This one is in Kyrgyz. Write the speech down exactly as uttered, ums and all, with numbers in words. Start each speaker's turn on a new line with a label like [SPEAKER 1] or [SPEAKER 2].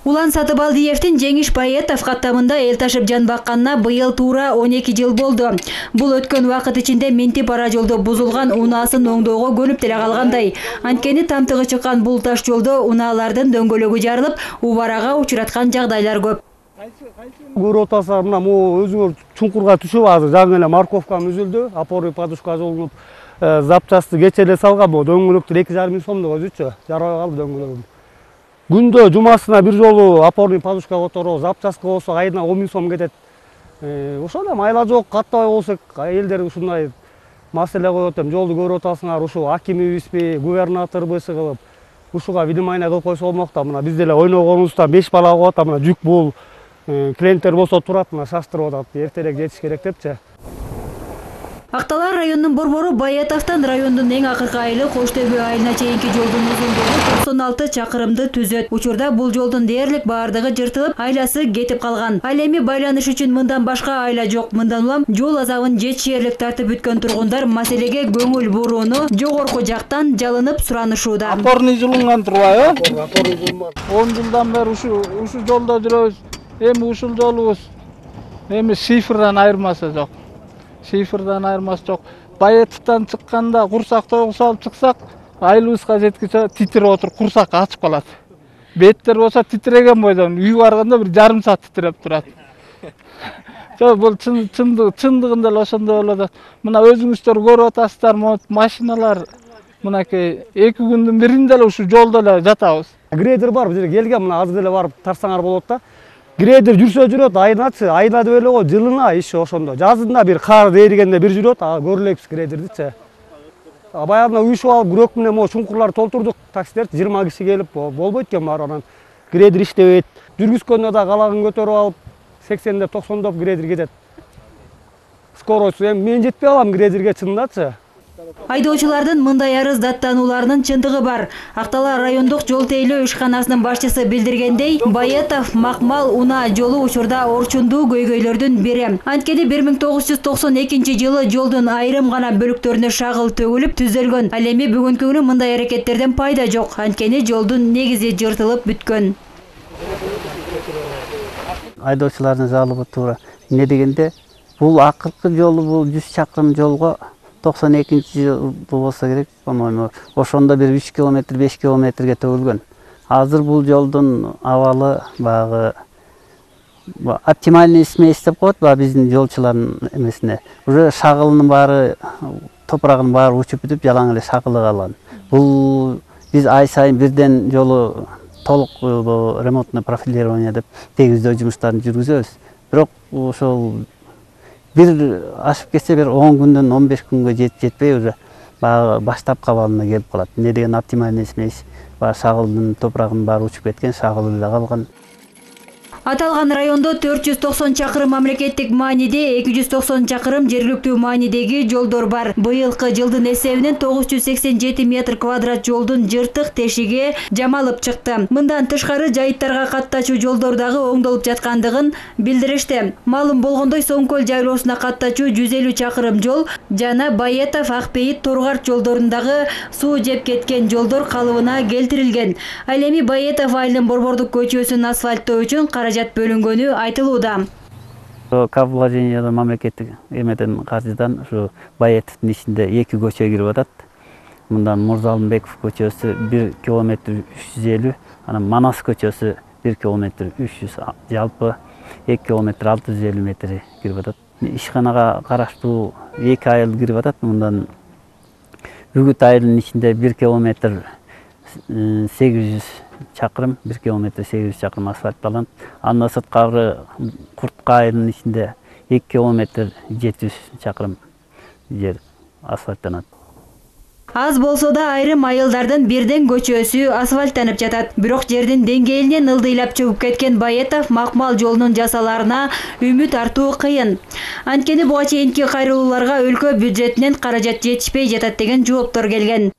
[SPEAKER 1] Улан Сатыбалдиевдин Жеңиш Баетов каттамында эл ташып жан бакканына быйыл туура он эки жыл болду. Бул өткөн убакыт ичинде минтип ара жолдо бузулган унаасын оңдоого көнүп деле калгандай. Анткени тамтыгы чыккан бул таш жолдо унаалардын дөңгөлөгү жарылып, убарага учураткан жагдайлар көп.
[SPEAKER 2] Көрүп атасыздар, мына могу өзүңөр чуңкурга түшүп азыр жаңы эле морковкам үзүлдү, опорный подушка жолунуп, запчасты кече эле салган, бул дөңгөлөктөр эки жарым миң сомдук өзүчө жарабай калды дөңгөлөгүм. Күндө жумасына бир жолу опорный подушка которо, запчаска болсо айына он миң сом кетет. Ошондо майла жок, каттабай болсок, элдер ушундай маселе коет эми, жолду көрүп атасыңар, ушу акимибизби, губернаторбу кылып, ушуга видимание кылып койсо болмок да. Мына биз деле ойногонубузда беш бала коет, мына жүк бул клиенттер болсо турат, мына шаштырып атат, эртерээк жетиш керек депчи.
[SPEAKER 1] Акталар районунун борбору Баетовдон райондун эң акыркы айылы Кош Төбө айылына чейинки жолдун узундугу токсон алты чакырымды түзөт. Учурда бул жолдун дээрлик баардыгы жыртылып, айласы кетип калган. Ал эми байланыш үчүн мындан башка айла жок. Мындан улам жол азабын жетишээрлик тартып бүткөн тургундар маселеге көңүл бурууну жогорку жактан жалынып суранышууда.
[SPEAKER 3] Опорный жылынган турбайбы? Опорный жылынган. он жылдан бери ушу ушу жолдо жүрөбүз. Эми ушул жолубуз эми шифрдан айырмасы жок. Шифрдан айырмасы жок. Баетовдон чыкканда курсак тогуз салып чыксак, айылыбызга жеткиче титирип отуруп, курсак ачып калат. Беттер болсо титиреген бойдон үй барганда бир жарым саат титиреп турат. Жок, бул чындыгында эле ошондой болуп атат. Мына өзүңүздөр көрүп атасыздар, могу машиналар мынакей эки күндүн биринде эле ушу жолдо эле жатабыз.
[SPEAKER 2] Грейдер бар, бизге келген, мына азыр эле барып тарсаңар болот да. Грейдер жүрсө жүрөт, айначы, айна деп эле го, жылына иши ошондо. Жазында бир кар эригенде бир жүрөт, көрүлөбүз грейдердичи. Баягы уюшуп алып, күрөк менен могу чуңкурлар толтурдук, таксилер жыйырма киши келип болбойт экен баары, анан грейдер иштебейт. Жүргүзгөндө да калагын көтөрүп алып, сексендеп, токсондоп грейдер кетет. Скоросту эми мен жетпей калам грейдерге чындачы.
[SPEAKER 1] Айдоочулардын мындай арыз даттанууларынын чындыгы бар. Акталар райондук жол тейлөө ишканасынын башчысы билдиргендей, Баетов Макмал унаа жолу учурда орчундуу көйгөйлөрдүн бири. Анткени бир миң тогуз жүз токсон экинчи жылы жолдун айрым гана бөлүктөрүнө шагыл төгүлүп түзөлгөн. Ал эми бүгүнкү күнү мындай аракеттерден пайда жок. Анткени жолдун негизи жыртылып бүткөн.
[SPEAKER 4] Айдоочулардын жалобу туура. Эмне дегенде, бул акыркы жолу, бул жүз чакырым жолго токсон экинчи жыл болсо керек, по-моему, ошондо бир үч километр, беш километрге төгүлгөн. Азыр бул жолдун абалы багы оптимальный смесь деп коет, ба биздин жолчулардын эмесине. Уже шагылынын баары, топурагынын баары учуп бүтүп, жалаң эле шагылы калган. Бул биз ай сайын бирден жолу толук ремонтный профилирование деп тегиздөө жумуштарын жүргүзөбүз. Бирок ошол бир ашып кетсе бир он күндөн он беш күнгө жетпей уже баштапкы абалына келип калат. Эмне деген оптимальный смесь, шагылдын топурагынын баары учуп кеткен, шагылы эле калган.
[SPEAKER 1] Аталган райондо төрт жүз токсон чакырым мамлекеттик мааниде, эки жүз токсон чакырым жергиликтүү маанидеги жолдор бар. Быйылкы жылдын эсебинен тогуз жүз сексен жети метр квадрат жолдун жыртык тешиги жамалып чыкты. Мындан тышкары жайыттарга каттачуу жолдор дагы оңдолуп жаткандыгын билдиришти. Маалым болгондой, Соңкөл жайлоосуна каттачуу жүз элүү чакырым жол жана Баетов Акбейит Торгарт жолдорундагы суу жеп кеткен жолдор калыбына келтирилген. Ал эми Баетов айылынын борбордук көчөсүн асфальттоо үчүн каражат бөлүнгөнү айтылууда.
[SPEAKER 4] Кап вложениядон мамлекеттик эмеден каржыдан ушу Баетовдун ичинде эки көчө кирип атат. Мындан Мурзалымбеков көчөсү бир километр үч жүз элүү, анан Манас көчөсү бир километр үч жүз, жалпы эки километр алты жүз элүү метр кирип атат. Ишканага караштуу эки айыл кирип атат. Мындан Үгүт айылынын ичинде бир километр сегиз жүз чакырым, бир километр сегиз жүз чакырым асфальтталат. Андан сырткары Куртка айылынын ичинде эки километр жети жүз чакырым жер асфальттанат.
[SPEAKER 1] Аз болсо да айрым айылдардын бирден көчөсү асфальттанып жатат. Бирок жердин деңгээлинен ылдыйлап чөгүп кеткен Баетов Макмал жолунун жасалаарына үмүт артуу кыйын. Анткени буга чейинки кайрылууларга өлкө бюджетинен каражат жетишпей жатат деген жооптор келген.